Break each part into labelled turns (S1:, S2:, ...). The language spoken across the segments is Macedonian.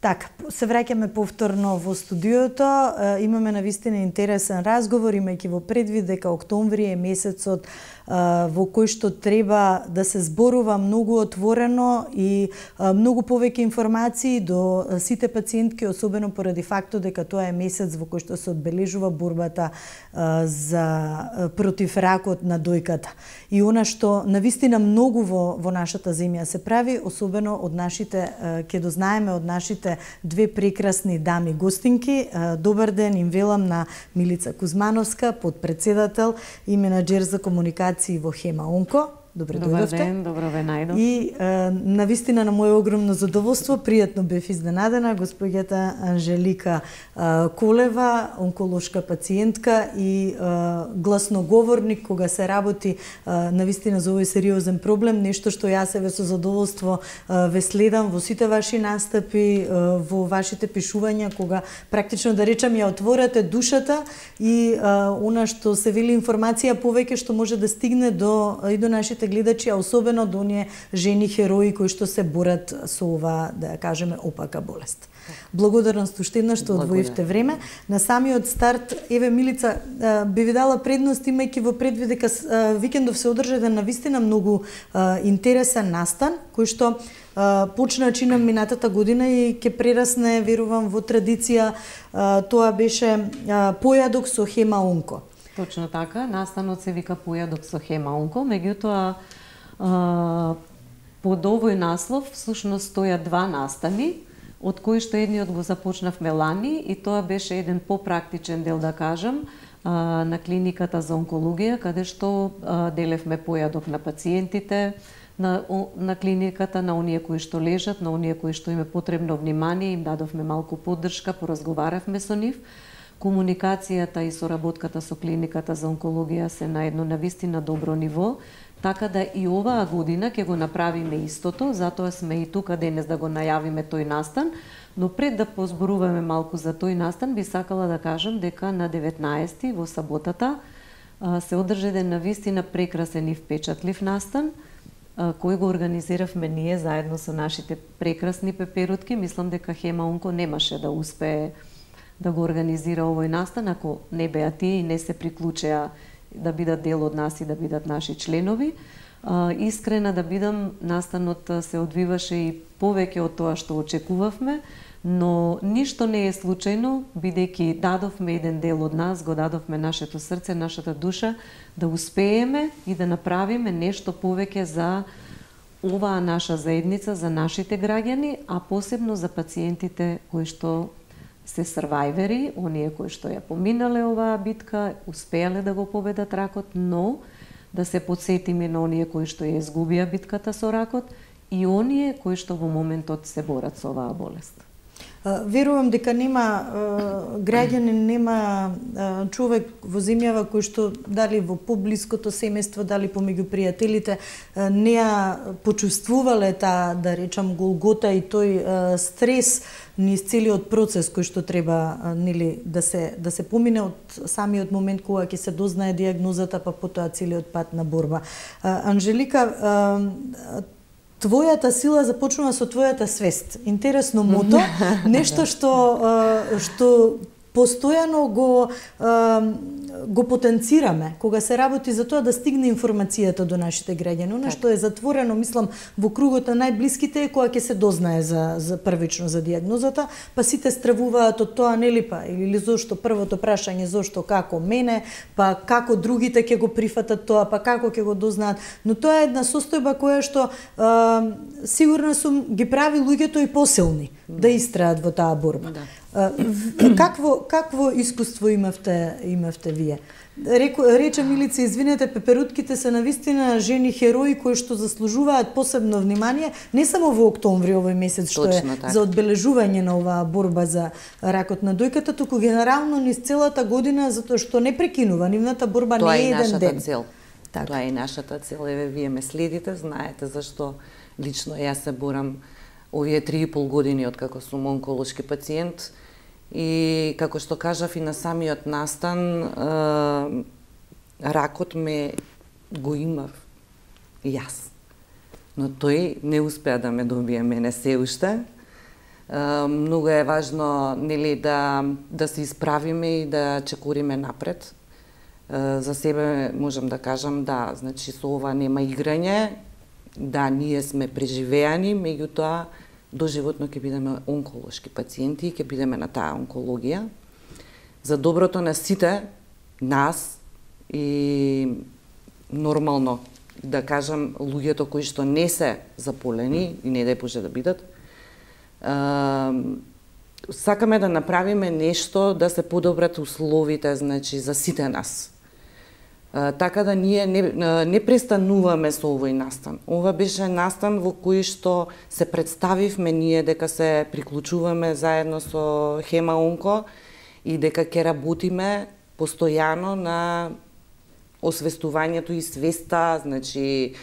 S1: Така, се враќаме повторно во студиото. Имаме навистина интересен разговор, имајќи во предвид дека октомври е месецот во кој што треба да се зборува многу отворено и многу повеќе информации до сите пациентки, особено поради фактот дека тоа е месец во кој што се одбележува борбата против ракот на дојката. И она што навистина многу во нашата земја се прави, особено од нашите, ќе дознаеме од нашите две прекрасни дами гостинки. Добар ден им велам на Милица Кузмановска, подпредседател и менаџер за комуникација во Хема Онко. Добре дојдовте.
S2: Добар ден, добро ве најдов.
S1: И навистина на моје огромно задоволство, пријатно бев изненадена, госпоѓата Анжелика Колева, онколошка пациентка и гласноговорник кога се работи навистина за овој сериозен проблем, нешто што јас еве со задоволство ве следам во сите ваши настапи, во вашите пишувања, кога практично да речам ја отворате душата и она што се вели информација повеќе што може да стигне и до нашите гледачи, а особено до оние жени херои кои што се борат со ова, да ја кажеме, опака болест. Благодарност уште еднаш што одвоивте време. На самиот старт, еве Милица, би ви дала предност имајќи во предвид дека викендов се одржа навистина многу интересен настан, кој што почна чинам минатата година и ќе прерасне, верувам, во традиција. Тоа беше појадок со Хема Онко.
S2: Точно така, настанот се вика појадок со Хема Онко, меѓутоа под овој наслов всушност стојат два настани, од кои што едниот го започнавме лани и тоа беше еден попрактичен дел, да кажам, на клиниката за онкологија, каде што делевме појадок на пациентите, на клиниката, на оние кои што лежат, на оние кои што им е потребно внимание, им дадовме малку поддршка, поразговаравме со нив. Комуникацијата и соработката со клиниката за онкологија се на едно навистина добро ниво, така да и оваа година ќе го направиме истото, затоа сме и тука денес да го најавиме тој настан, но пред да позборуваме малку за тој настан, би сакала да кажам дека на 19 во саботата се одржа еден навистина прекрасен и впечатлив настан, кој го организиравме ние заедно со нашите прекрасни пеперутки. Мислам дека Хема Онко немаше да успее да го организира овој настан, ако не беа тие и не се приклучеа да бидат дел од нас и да бидат наши членови. Искрена да бидам, настанот се одвиваше и повеќе од тоа што очекувавме, но ништо не е случајно, бидејќи дадовме еден дел од нас, го дадовме нашето срце, нашата душа, да успееме и да направиме нешто повеќе за оваа наша заедница, за нашите граѓани, а посебно за пациентите кои што се срвајвери, оние кои што ја поминале оваа битка, успеале да го победат ракот, но да се подсетиме на оние кои што ја изгубија битката со ракот и оние кои што во моментот се борат со оваа болест.
S1: Верувам дека нема граѓанин, нема човек во земјава кој што дали во поблиското семејство, дали помеѓу пријателите не ја почувствувале таа, да речам, голгота и тој стрес низ целиот процес кој што треба нели да се помине од самиот момент кога ќе се дознае дијагнозата, па потоа целиот пат на борба. Анжелика, твојата сила започнува со твојата свест. Интересно мото, нешто што постојано го потенцираме кога се работи за тоа да стигне информацијата до нашите граѓани. Она што е затворено, мислам, во кругот на најблиските е кога ќе се дознае за првично за дијагнозата, па сите стравуваат од тоа, нели, па или зошто првото прашање зошто, како мене, па како другите ќе го прифатат тоа, па како ќе го дознаат. Но тоа е една состојба која што сигурна сум ги прави луѓето и посилни да истраат во таа борба. Какво искуство имавте вие? Рече Милица, извинете, пеперутките се навистина жени херои кои што заслужуваат посебно внимание, не само во октомври овој месец што е за одбележување на оваа борба за ракот на дојката, туку генерално низ целата година, затоа што не прекинува, нивната борба не е еден ден.
S3: Тоа е нашата цел. Еве, вие ме следите, знаете зашто лично јас се борам овие 3,5 години од како сум онколошки пациент. И како што кажав и на самиот настан, ракот ме го имав јас. Но тој не успеа да ме добие мене се уште. Многу е важно, нели, да се исправиме и да чекориме напред. За себе можам да кажам, да, значи со ова нема играње, да, ние сме преживеани, меѓутоа доживотно ќе бидеме онколошки пациенти и ќе бидеме на таа онкологија. За доброто на сите нас и нормално да кажам луѓето кои што не се заполени и не дај Боже да бидат, сакаме да направиме нешто да се подобрат условите, значи за сите нас. Така да ние не престануваме со овој настан. Ова беше настан во кој што се представивме ние дека се приклучуваме заедно со Хема Онко и дека ќе работиме постојано на освестувањето и свеста, значи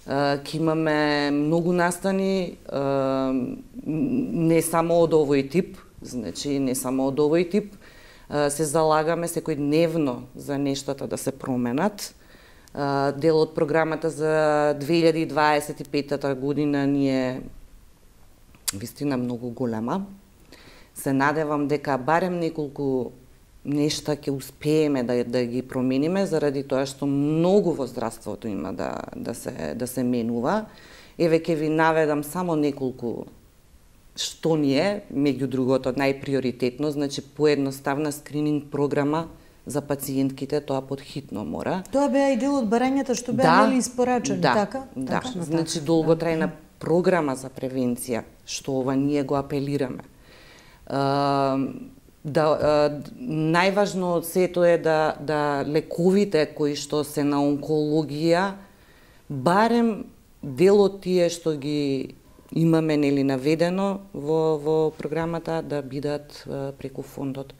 S3: ќе имаме многу настани, не само од овој тип, значи не само од овој тип, се залагаме секојдневно за нештата да се променат. Дел од програмата за 2025 година ни е вистина многу голема. Се надевам дека барем неколку нешта ќе успееме да ги промениме, заради тоа што многу во здравството има да се менува. Еве ќе ви наведам само неколку што ни е, меѓу другото, најприоритетно, значи поедноставна скрининг програма за пациентките, тоа подхитно мора.
S1: Тоа беа и дел од барањата што беа нели испорачани, така?
S3: Да, значи долготрајна програма за превенција, што ова ние го апелираме. Најважно од сето е да лековите кои што се на онкологија, барем дел од тие што ги имаме нели наведено во програмата да бидат преку фондот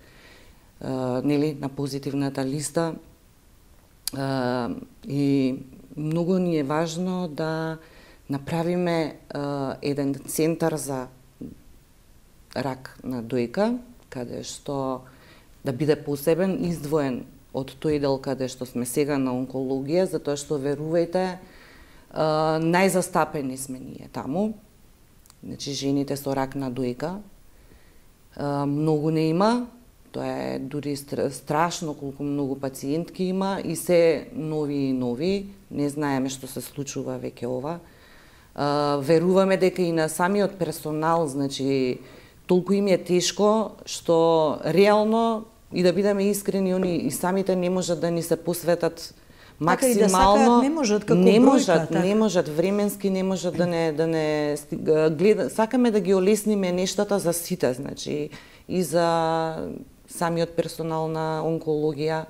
S3: нели на позитивната листа, и многу ни е важно да направиме еден центар за рак на дојка, каде што да биде посебен, издвоен од тој дел каде што сме сега на онкологија, затоа што верувајте, најзастапени сме ние таму. Значи жените со рак на дојка многу не има, тоа е дури страшно колку многу пациентки има и се нови и нови, не знаеме што се случува веќе ова. Веруваме дека и на самиот персонал, значи толку им е тешко што реално, и да бидеме искрени, они и самите не можат да ни се посветат максимално, не можат временски, не можат да не гледа. Сакаме да ги олесниме нештата за сите, значи и за самиот персонал на онкологија,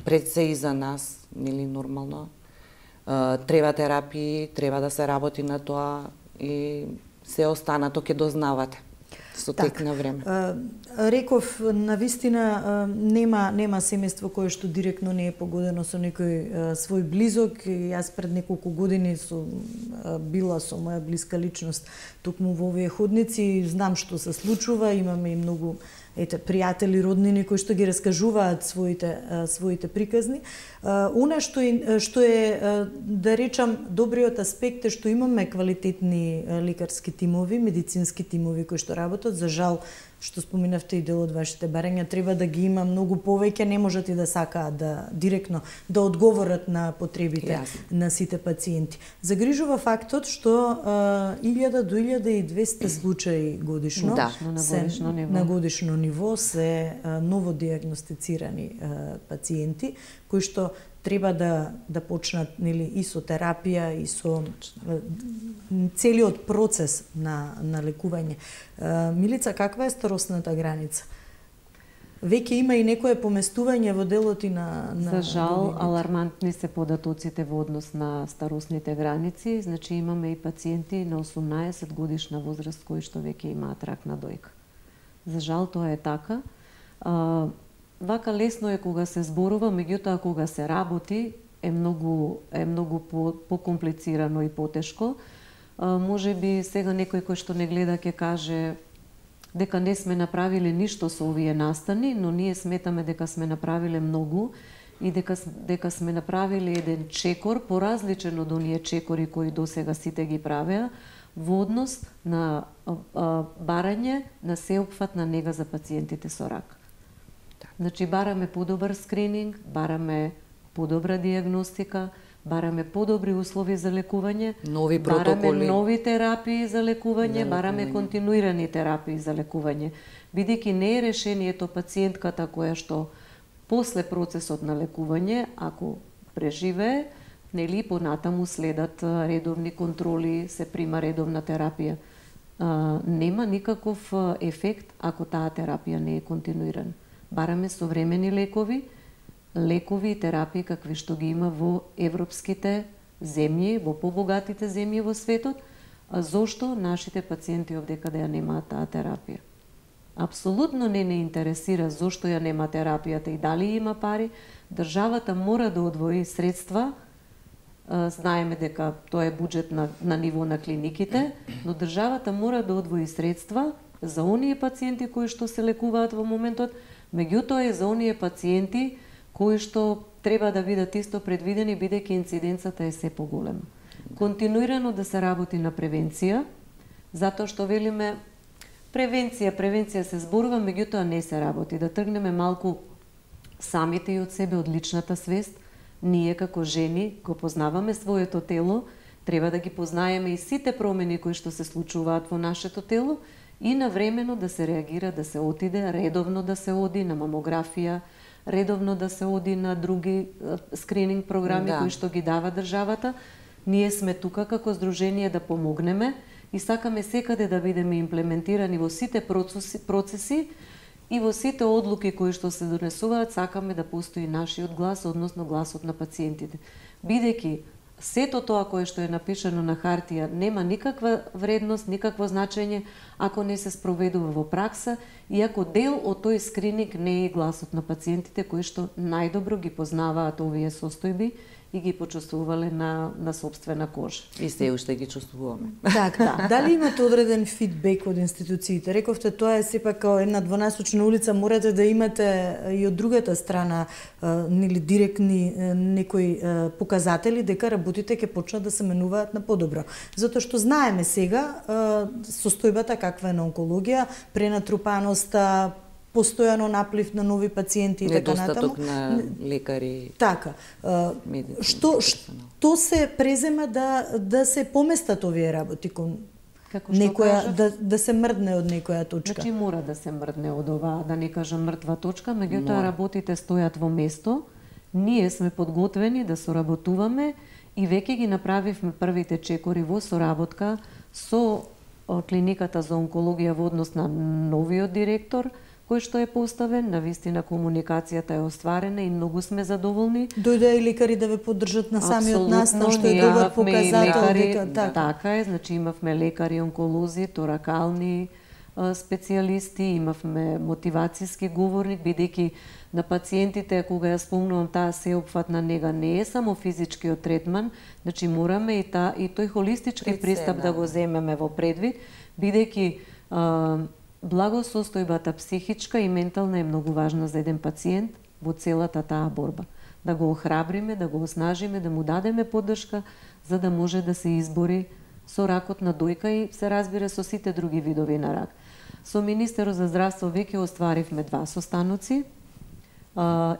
S3: пред се и за нас, нели нормално. Треба терапии, треба да се работи на тоа и се останато ќе дознавате со тек на време.
S1: Реков, навистина нема семејство кое што директно не е погодено со некој свој близок. Јас пред неколку години била со моја блиска личност токму во овие ходници, знам што се случува, имаме и многу пријатели, роднини кои што ги раскажуваат своите приказни. Она што е, да речам, добриот аспект е што имаме квалитетни лекарски тимови, медицински тимови кои што работат. За жал, што споминавте и дел од вашите барања, треба да ги има многу повеќе, не можат и да сакаат директно да одговорат на потребите на сите пациенти. Загрижува фактот што 1000 до 1200 случаи годишно, на годишно ниво се новодиагностицирани пациенти кои што треба да почнат нели и со терапија и со целиот процес на лекување. Милица, каква е старосната граница? Веќе има и некое поместување во делот и на
S2: За жал, алармантни се податоците во однос на старосните граници. Значи имаме и пациенти на 18 годишна возраст кои што веќе имаат рак на дојка. За жал тоа е така. Вака лесно е кога се зборува, меѓутоа кога се работи е многу покомплицирано и потешко. Може би сега некој кој што не гледа ќе каже дека не сме направиле ништо со овие настани, но ние сметаме дека сме направиле многу и дека сме направиле еден чекор поразличен од оние чекори кои досега сите ги правеа во однос на барање на сеопфатна нега за пациентите со рак. Значи бараме подобар скрининг, бараме подобра диагностика, бараме подобри услови за лекување,
S3: нови протоколи,
S2: бараме нови терапии за лекување, бараме континуирани терапии за лекување, бидејќи не е решението пациентката која што после процесот на лекување, ако преживее, нели понатаму следат редовни контроли, се прима редовна терапија. Нема никаков ефект ако таа терапија не е континуирана. Бараме современи лекови и терапии какви што ги има во европските земји, во побогатите земји во светот, а зошто нашите пациенти овде каде ја немаат таа терапија? Апсолутно не интересира зошто ја нема терапијата и дали има пари. Државата мора да одвои средства. Знаеме дека тоа е буџет на ниво на клиниките, но државата мора да одвои средства за оние пациенти кои што се лекуваат во моментот, меѓутоа и за оние пациенти кои што треба да бидат исто предвидени бидејќи инциденцата е се поголема. Континуирано да се работи на превенција, затоа што велиме превенција се зборува, меѓутоа не се работи. Да тргнеме малку самите и од себе од личната свест. Ние како жени го познаваме своето тело, треба да ги познаеме и сите промени кои што се случуваат во нашето тело и навремено да се реагира, да се отиде, редовно да се оди на мамографија, редовно да се оди на други скрининг програми кои што ги дава државата. Ние сме тука како здружение да помогнеме и сакаме секаде да бидеме имплементирани во сите процеси и во сите одлуки кои што се донесуваат, сакаме да постои нашиот глас, односно гласот на пациентите. Бидејќи сето тоа кое што е напишано на хартија нема никаква вредност, никакво значење ако не се спроведува во пракса и ако дел од тој скрининг не е гласот на пациентите кои што најдобро ги познаваат овие состојби и ги почувствувале на собствена кожа. И
S3: се уште ги чувствуваме.
S1: Така, дали имате одреден фидбек од институциите? Рековте тоа е сепак како една двонасочна улица, морате да имате и од другата страна нели директни некои показатели дека работите ќе почнат да се менуваат на подобро. Затоа што знаеме сега состојбата каква е на онкологија, пренатрупаноста, постојано наплив на нови пациенти и така натаму.
S3: Недостаток на лекари.
S1: Така. Што се презема да се поместат овие работи кон некоја да се мрдне од некоја точка?
S2: Значи мора да се мрдне од оваа, да не кажам мртва точка, меѓутоа работите стојат во место. Ние сме подготвени да соработуваме и веќе ги направивме првите чекори во соработка со клиниката за онкологија во однос на новиот директор кој што е поставен, навистина комуникацијата е остварена и многу сме задоволни.
S1: Дојде и лекари да ве поддржат на самиот настан, што е добар показател дека
S2: така е, значи имавме лекари онколози, торакални специјалисти, имавме мотивацијски говорник, бидејќи на пациентите кога ја спомнувам таа сеопфатна нега не е само физичкиот третман, значи мораме и тој холистички пристап да го земеме во предвид, бидејќи благосостојбата психичка и ментална е многу важна за еден пациент во целата таа борба. Да го охрабриме, да го оснажиме, да му дадеме поддршка за да може да се избори со ракот на дојка и се разбира со сите други видови на рак. Со Министерот за здравство веќе остваривме 2 состаноци.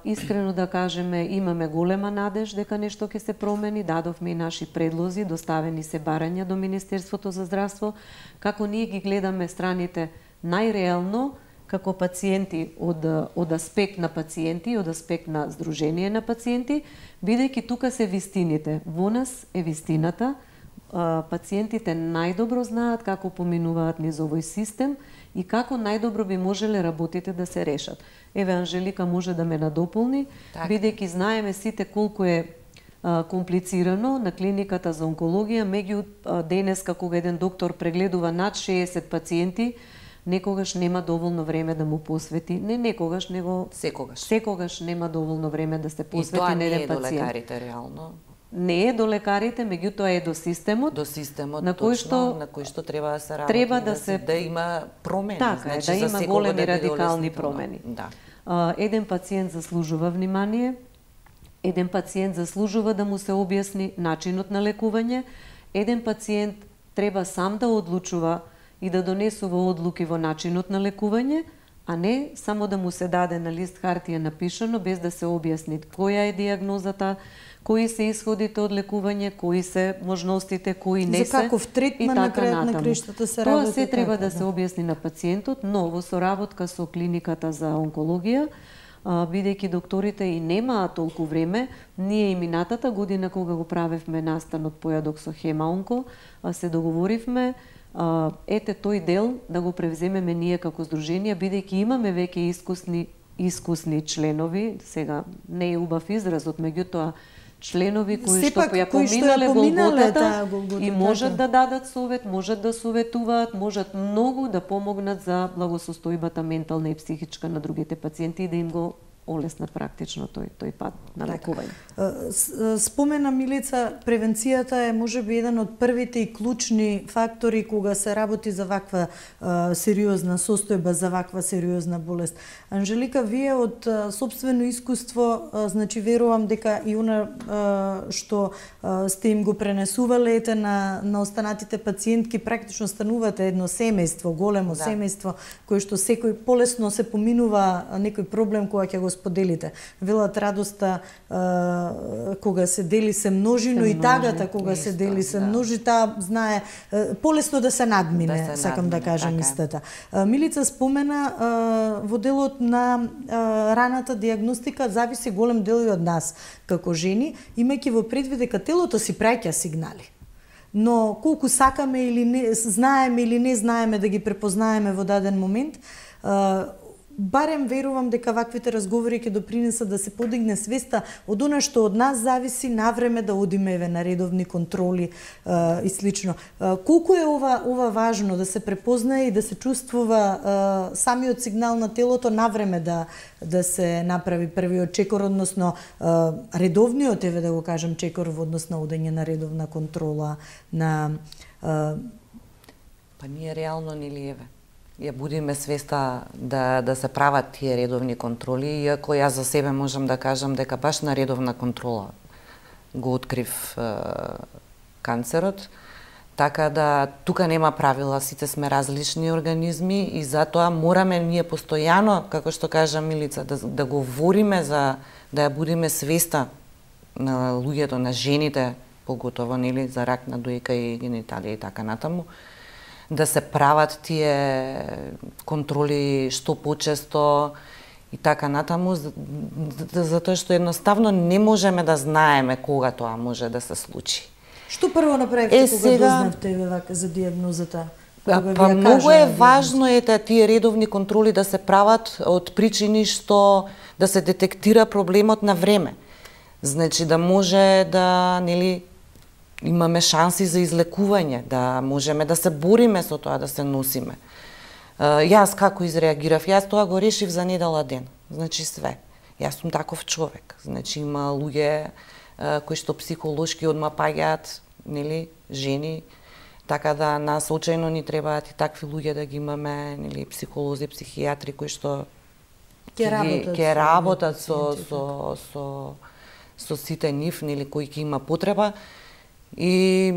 S2: Искрено да кажеме, имаме голема надеж дека нешто ќе се промени, дадовме и наши предлози, доставени се барања до Министерството за здравство, како ние ги гледаме страните најреално како пациенти од аспект на пациенти, од аспект на здружение на пациенти, бидејќи тука се вистините. Во нас е вистината. Пациентите најдобро знаат како поминуваат низ овој систем и како најдобро би можеле работите да се решат. Еве, Анжелика може да ме надополни, бидејќи знаеме сите колку е комплицирано на клиниката за онкологија, меѓу денеска кога еден доктор прегледува над 60 пациенти, некогаш нема доволно време да му посвети, не некогаш, него секогаш нема доволно време да се посвети на еден пациент.
S3: И тоа не е до лекарите реално.
S2: Не е до лекарите, меѓутоа е до системот.
S3: До системот, на кој што треба да се работи, да има промени.
S2: Така,
S3: значи,
S2: да има големи радикални промени.
S3: Да.
S2: Еден пациент заслужува внимание, Еден пациент заслужува да му се објасни начинот на лекување, еден пациент треба сам да одлучува и да донесува одлуки во начинот на лекување, а не само да му се даде на лист хартија напишано без да се објасни која е дијагнозата, кои се исходите од лекување, кои се можностите, кои не се.
S1: За каков третман на крајот на криштата се работи.
S2: Тоа се треба да се објасни на пациентот, но во соработка со клиниката за онкологија, бидејќи докторите и немаа толку време, ние и минатата година кога го правевме настанот појадок со Хема Онко, се договоривме ете тој дел да го превземеме ние како здружение, бидејќи имаме веќе искусни членови, сега не е убав изразот, меѓутоа членови кои што ја поминале голготата и можат да дадат совет, можат да советуваат, можат многу да помогнат за благосостојбата ментална и психичка на другите пациенти и да им го олеснат практично тој пат на лекување.
S1: Спомена Милица, превенцијата е можеби еден од првите и клучни фактори кога се работи за ваква сериозна состојба, за ваква сериозна болест. Анжелика, вие од сопствено искуство, значи верувам дека и она што сте им го пренесувале на останатите пациентки, практично станувате едно семејство, големо семејство, кое што секој полесно се поминува некој проблем кога ќе го споделите. Велат радоста кога се дели се множи, но и тагата кога се дели се множи, таа знае полесно да се надмине, сакам да кажам истата. Милица спомена во делот на раната дијагностика зависи голем дел и од нас како жени, имајќи во предвид дека телото си праќа сигнали. Но колку сакаме или не знаеме или не знаеме да ги препознаеме во даден момент, барем верувам дека ваквите разговори ќе допринесат да се подигне свеста од она што од нас зависи, навреме да одиме на редовни контроли и слично. Колку е ова важно да се препознае и да се чувствува самиот сигнал на телото навреме да се направи првиот чекор, односно редовниот, еве да го кажам, чекор во однос на одење на редовна контрола на
S3: Па ние реално нели еве ја будиме свеста да се прават тие редовни контроли, иако јас за себе можам да кажам дека баш на редовна контрола го открив канцерот, така да тука нема правила, сите сме различни организми и затоа мораме ние постојано, како што кажа Милица, да говориме за да ја будиме свеста на луѓето, на жените, поготово нели за рак на дојка и гениталија и така натаму, да се прават тие контроли што почесто и така натаму, затоа што едноставно не можеме да знаеме кога тоа може да се случи.
S1: Што прво направивте кога дознавте вака за дијагнозата?
S3: Па многу е важно тие редовни контроли да се прават од причини што да се детектира проблемот на време. Значи да може да нели имаме шанси за излекување, да можеме да се бориме со тоа, да се носиме. Јас како изреагирав? Јас тоа го решив за недела ден. Значи све. Јас сум таков човек. Значи има луѓе кои што психолошки одма паѓаат, нели, жени, така да нас очајно ни требаат и такви луѓе да ги имаме, нели, психолози, психијатри кои што ќе работат со сите нив, нели, кои ќе има потреба. И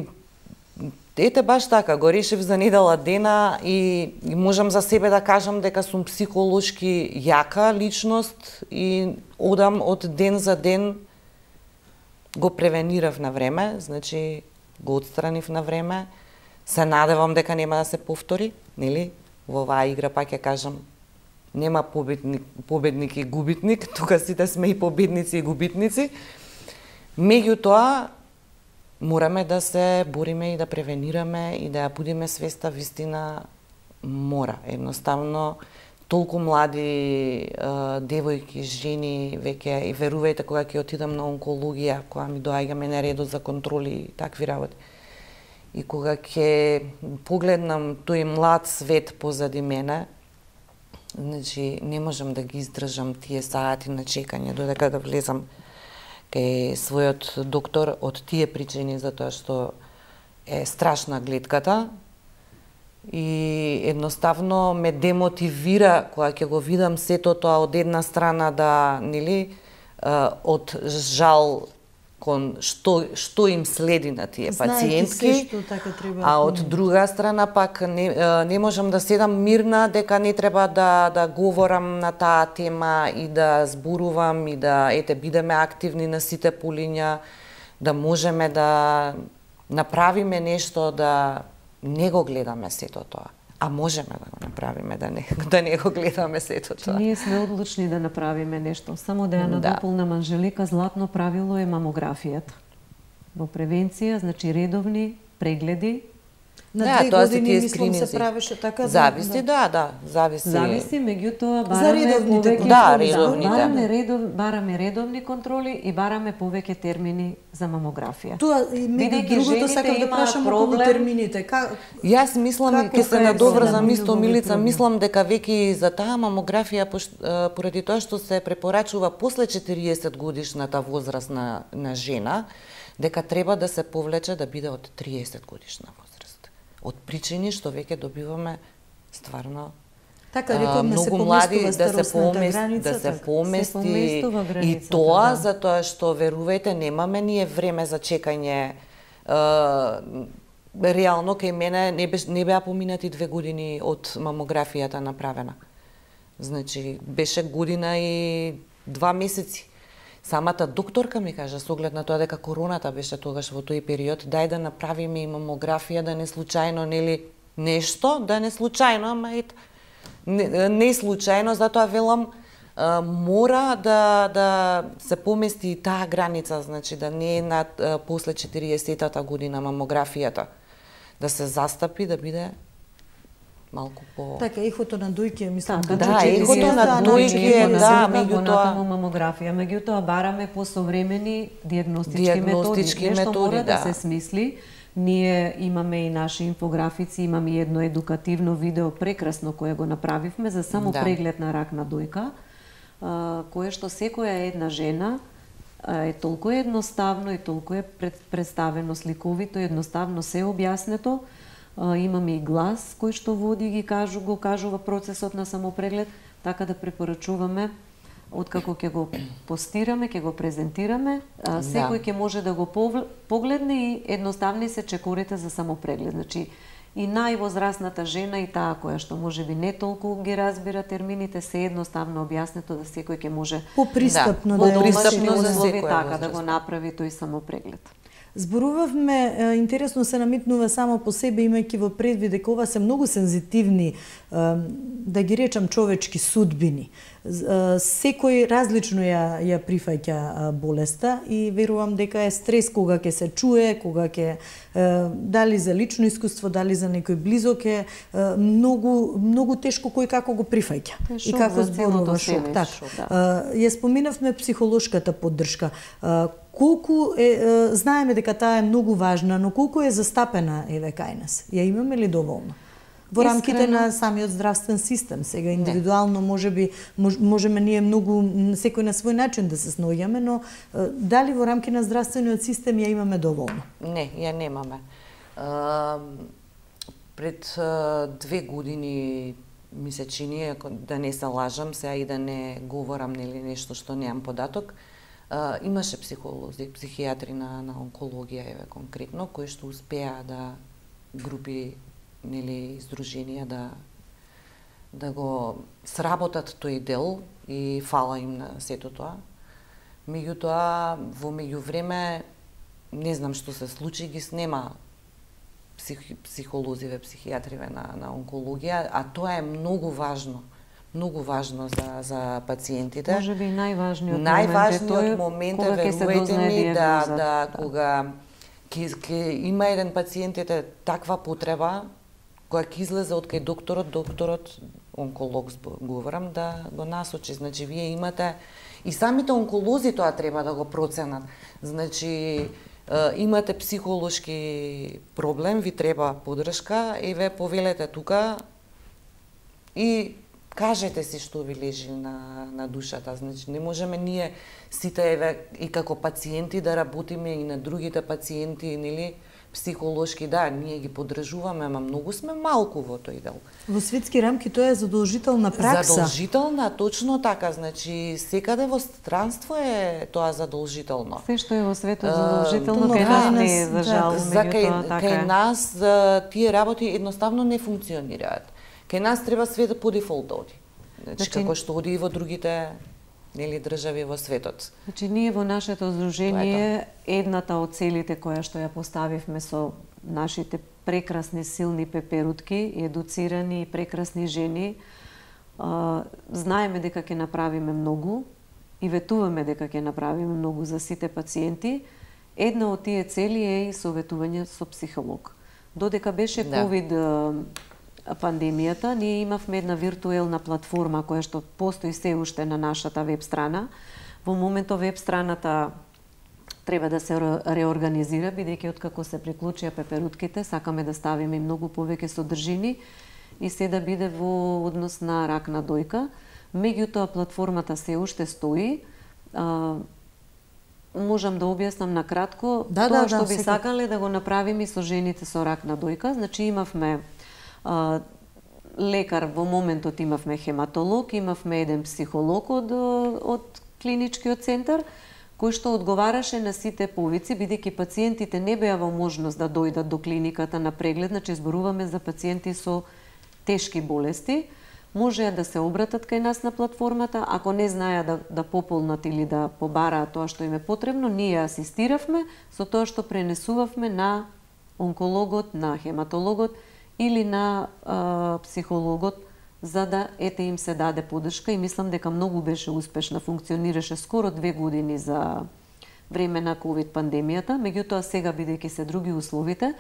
S3: ете баш така, го решив за недела дена и можам за себе да кажам дека сум психолошки јака личност и одам од ден за ден, го превенирав на време, значи го отстранив на време, се надевам дека нема да се повтори, нели? Во оваа игра пак ќе кажам, нема победник и губитник, тука сите сме и победници и губитници. Меѓутоа, мораме да се бориме и да превенираме и да ја будиме свеста вистина мора. Едноставно, толку млади девојки, жени, веќе и верувајте кога ќе отидам на онкологија, кога ми доаѓаме на редот за контроли и такви работи. И кога ќе погледнам тој млад свет позади мене, значи не можам да ги издржам тие сати на чекање додека да влезам кај својот доктор од тие причини, затоа што е страшна гледката и едноставно ме демотивира кога ќе го видам сето тоа од една страна да, нели, од жал кон што им следи на тие пациентки, а од друга страна пак не можам да седам мирна дека не треба да говорам на таа тема и да зборувам и да бидеме активни на сите полиња, да можеме да направиме нешто, да не го гледаме сето тоа. А можеме да го направиме, да не го гледаме сето тоа.
S2: Ние сме одлучни да направиме нешто. Само да ја надополнам, Анжелика, златно правило е мамографијата. Во превенција, значи редовни прегледи.
S1: На 2 години, мислам, се правеше така.
S3: Зависи, зависи.
S2: Зависи, меѓутоа бараме редовни контроли и бараме повеќе термини за мамографија.
S1: Тоа и меѓу другото сакам да прашам околу термините.
S3: Јас мислам, ке се надоврзам исто, Милица, мислам дека веќе за таа мамографија, поради тоа што се препорачува после 40 годишната возраст на жена, дека треба да се повлече да биде од 30 годишна возраст. Од причини што веќе добиваме стварно многу млади да се помести и тоа затоа што верувајте немаме ние време за чекање. Реално кај мене не беа поминати 2 години од мамографијата направена. Значи беше година и 2 месеци. Самата докторка ми кажа, со оглед на тоа дека короната беше тогаш во тој период, дај да направиме и мамографија, да не случајно, нели, нешто, да не случајно, ама не случајно, затоа велам, мора да се помести и таа граница, значи да не е над после 40-тата година мамографијата, да се застапи, да биде малку по...
S1: Така, ехото на дојке, мислам.
S3: Ехото на дојке,
S2: меѓутоа мамографија, меѓутоа бараме посовремени дијагностички методи. Нешто мора да се смисли. Ние имаме и наши инфографици, имаме и едно едукативно видео прекрасно кое го направивме за само преглед на рак на дојка, кое што секоја една жена е толку едноставно и толку е представено сликовито, едноставно се објаснето. Имаме и глас кој што води го кажува процесот на самопреглед, така да препорачуваме откако ќе го постираме, ќе го презентираме, секој ќе може да го погледне и едноставни се чекорите за самопреглед. Значи и највозрасната жена и таа која што можеби не толку ги разбира термините, се едноставно објаснето да секој ќе може
S1: попристапно
S2: така да го направи тој самопреглед.
S1: Зборувавме, интересно се намитнува само по себе, имајќи во предвид дека ова се многу сензитивни, да ги речам, човечки судбини. Секој различно ја прифаќа болеста и верувам дека е стрес кога ќе се чуе, кога ќе дали за лично искуство, дали за некој близок е многу тешко кој како го прифаќа и како зборува шок. Ја споменавме психолошката поддршка. Колку знаеме дека таа е многу важна, но колку е застапена еве кај нас? Ја имаме ли доволно? Во рамките на самиот здравствен систем, сега индивидуално можеме ние многу секој на свој начин да се сноѓаме, но дали во рамки на здравствениот систем ја имаме доволно?
S3: Не, ја немаме. Пред 2 години ми се чини, да не се лажам, сега и да не говорам нели нешто што немам податок, имаше психолози, психијатри на онкологија еве конкретно кои што успеа да групи нели издруженија да го сработат тој дел и фала им на сето тоа. Меѓутоа во меѓувреме не знам што се случи, ги снема психолозиве, психијатриве на онкологија, а тоа е многу важно за пациентите.
S2: Може би најважниот
S3: момент е, верувајте ми, кога ќе има еден пациент таква потреба, која ќе излезе од кај докторот, онколог говорам, да го насочи. Значи, вие имате, и самите онколози тоа треба да го проценат. Значи, имате психолошки проблем, ви треба поддршка, еве повелете тука и кажете си што ви лежи на душата. Значи, не можеме ние сите еве и како пациенти да работиме и на другите пациенти, нели, психолошки, да, ние ги поддржуваме, ама многу сме малку во тој дел.
S1: Во светски рамки тоа е задолжителна пракса.
S3: Задолжителна, точно така, значи секаде во странство е тоа задолжително.
S2: Се што е во светот задолжително, кај нас не е, за жал, меѓутоа така е.
S3: Кај нас тие работи едноставно не функционираат. Кај нас треба све да по дефолт оди. Значи, како што оди и во другите држави во светот.
S2: Значи, ние во нашето здружение, едната од целите која што ја поставивме со нашите прекрасни, силни пеперутки, едуцирани и прекрасни жени, знаеме дека ќе направиме многу и ветуваме дека ќе направиме многу за сите пациенти. Една од тие цели е и советување со психолог. Додека беше ковид пандемијата, ние имавме една виртуелна платформа која што постои се уште на нашата веб страна. Во моментот веб страната треба да се реорганизира, бидејќи откако се приклучија пеперутките, сакаме да ставиме многу повеќе содржини и се да биде во однос на ракна дојка. Меѓутоа, платформата се уште стои. Можам да објаснам на кратко тоа што би сакале да го направиме со жените со рак на дојка. Значи, имавме лекар, во моментот имавме хематолог, имавме еден психолог од клиничкиот центар, кој што одговараше на сите повици, бидејќи пациентите не беа во можност да дојдат до клиниката на преглед, значи зборуваме за пациенти со тешки болести, можеа да се обратат кај нас на платформата, ако не знаеа да пополнат или да побараат тоа што им е потребно, ние асистиравме со тоа што пренесувавме на онкологот, на хематологот или на психологот, за да им се даде поддршка, и мислам дека многу беше успешна, функционираше скоро 2 години за време на ковид пандемијата, меѓутоа сега, бидејќи се други условите,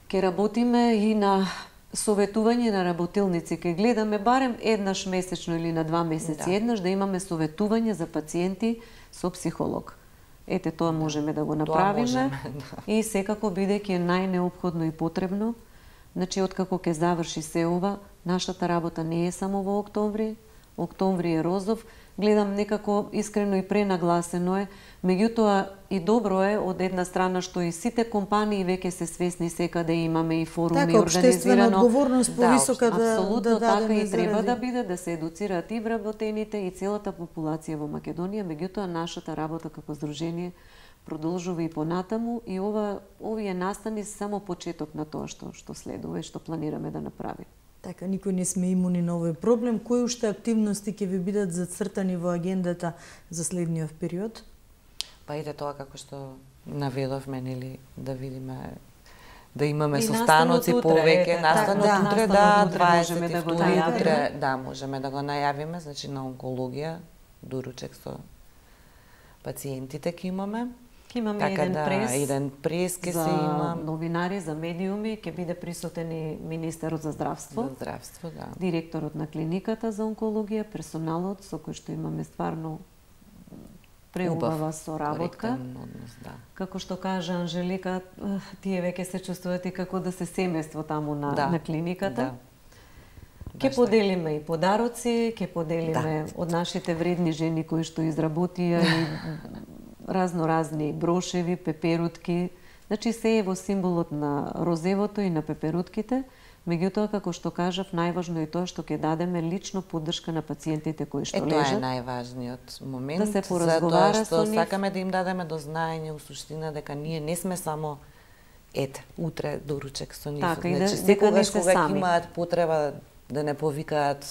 S2: ќе работиме и на советување на работилници, ќе гледаме барем еднаш месечно или на 2 месеци еднаш да имаме советување за пациенти со психолог. Ете, тоа можеме да го направиме и секако, бидејќи е најнеопходно и потребно. Значи, откако ќе заврши се ова, нашата работа не е само во октомври. Октомври е розов. Гледам некако искрено и пренагласено е. Меѓутоа и добро е од една страна што и сите компании веќе се свесни, секаде имаме и форуми организирано.
S1: Така, општествена одговорност повисока
S2: да така и треба да биде, да се едуцираат и вработените и целата популација во Македонија. Меѓутоа нашата работа како здружение продолжува и понатаму, и овие настани се само почеток на тоа што следува и што планираме да направиме.
S1: Така, никој не сме имуни на овој проблем. Кои уште активности ќе ви бидат зацртани во агендата за следниот период?
S3: Па иде тоа како што наведовме, нели, да видиме, да имаме состаноци повеќе, настанот утре, да, 22 утре, да, можеме да го најавиме, значи на онкологија, доручек со пациентите ќе имаме.
S2: Имаме
S3: така
S2: еден прес
S3: ќе се има.
S2: Новинари, за медиуми, ќе биде присутен и министерот за здравство.
S3: За здравство, да.
S2: Директорот на клиниката за онкологија, персоналот со кој што имаме стварно преубава соработка.
S3: Однос, да.
S2: Како што кажа Анжелика, тие веќе се чувствуваат и како да се семејство таму на клиниката. Ке поделиме и подароци, ке поделиме од нашите вредни жени кои што изработија и разноразни брошеви, пеперутки. Значи се е во символот на розевото и на пеперутките. Меѓутоа, како што кажав, најважно е тоа што ќе дадеме лично поддршка на пациентите кои што лежат.
S3: Тоа е најважниот момент,
S2: да се поразговара
S3: со нив. Сакаме да им дадеме до знаење у суштина дека ние не сме само утре доручек со нив.
S2: Така,
S3: значи, секогаш кога имаат потреба да не повикаат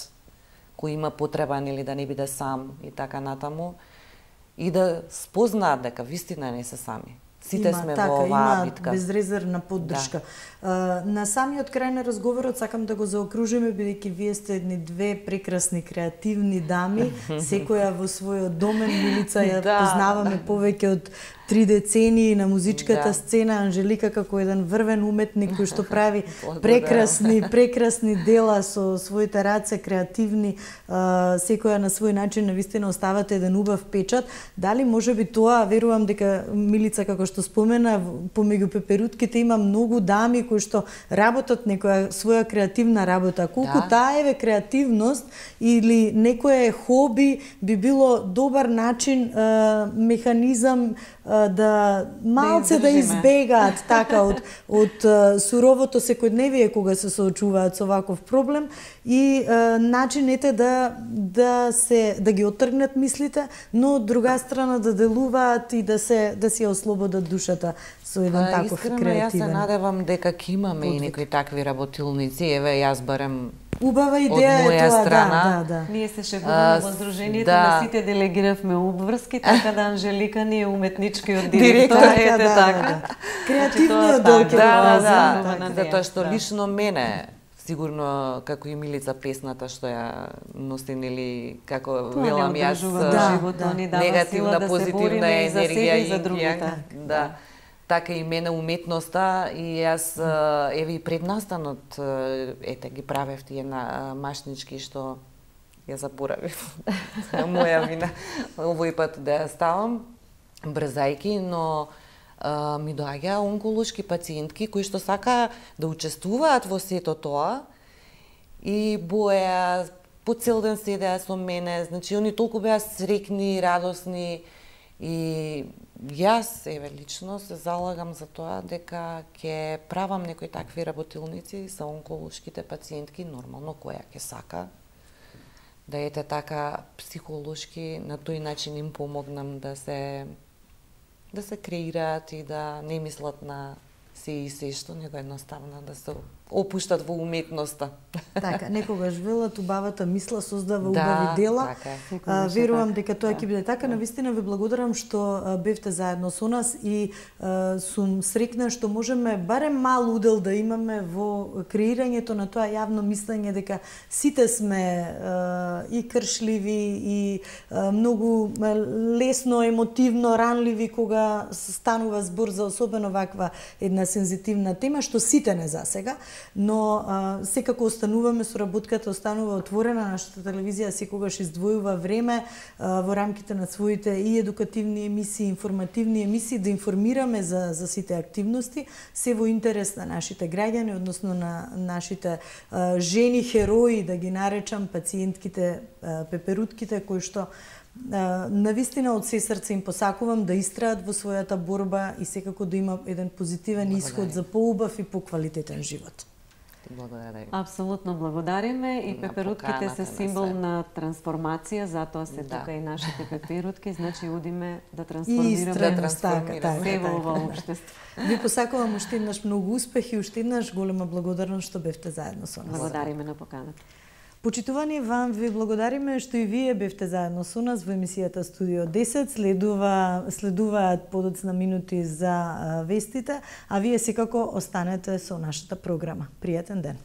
S3: кој има потреба, нели, да не биде сам и така натаму, и да спознаат дека вистина не се сами. Сите сме во оваа битка.
S1: Безрезервна поддршка. На самиот крај на разговорот сакам да го заокружиме, бидејќи вие сте едни две прекрасни креативни дами, секоја во својот домен. Милица ја познаваме повеќе од 3 децении на музичката сцена, Анжелика како еден врвен уметник кој што прави прекрасни дела со своите раце, креативни, секоја на свој начин навистина оставате еден убав печат. Дали можеби тоа, верувам дека Милица како што спомена, помеѓу пеперутките има многу дами кои што работат некоја своја креативна работа. Колку таа еве креативност или некое хоби би било добар начин, механизам да малце да избегаат така од суровото секојдневие кога се соочуваат со ваков проблем и начинете да ги оттргнат мислите, но од друга страна да делуваат и да си ослободат душата со еден таков креативен.
S3: Искрено, јас се надевам дека ќе имаме и некои такви работилници. Еве, јас барем
S1: убава идеја е тоа, да.
S2: Ние се шегуваме во Сдруженијето, на сите делегиравме обврски, така да Анжелика ни е уметничкиот директор, ете така.
S1: Креативниот дојде.
S3: Да, затоа што лично мене, сигурно како и Милица песната што ја носи, нели, како велам јас, негативна, позитивна енергија и за другите. Да. Така и мене уметноста и јас еве и пред настанот ете ги правев тие машнички што ја заборавив. Моја вина овој пат да ја ставам брзајки, но ми доаѓа онколошки пациентки кои што сака да учествуваат во сето тоа и боја по цел ден седеа со мене, значи они толку беа среќни, радосни и јас, еве, лично се залагам за тоа дека ќе правам некои такви работилници за онколошките пациентки, нормално која ќе сака да ете така психолошки на тој начин им помогнам да се креираат и да не мислат на се и се што, него едноставно да се опуштат во уметноста.
S1: Така, некогаш велат убавата мисла создава убави дела.
S3: Така,
S1: верувам дека тоа ќе биде така. Навистина ви благодарам што бевте заедно со нас и сум среќна што можеме барем мал удел да имаме во креирањето на тоа јавно мислење дека сите сме и кршливи и многу лесно, емотивно ранливи кога станува збор за особено ваква една сензитивна тема што сите не засега. Но секако остануваме со работката, останува отворена, нашата телевизија секогаш издвојува време во рамките на своите и едукативни емисии, информативни емисии да информираме за сите активности, се во интерес на нашите граѓани, односно на нашите жени херои, да ги наречам, пациентките, пеперутките кои што навистина од се срце им посакувам да истраат во својата борба и секако да има еден позитивен исход за поубав и поквалитетен живот.
S3: Благодарам.
S2: Апсолутно благодариме и пеперутките се символ на трансформација, затоа се тука и нашите пеперутки, значи удиме да трансформираме се во ова општество.
S1: Ви посакувам уште еднаш многу успех и уште еднаш голема благодарност што бевте заедно со нас.
S2: Благодариме на поканата.
S1: Почитувани, вам ви благодариме што и вие бевте заедно со нас во емисијата Студио 10. Следуваат подоцна минути за вестите, а вие секако останете со нашата програма. Пријатен ден.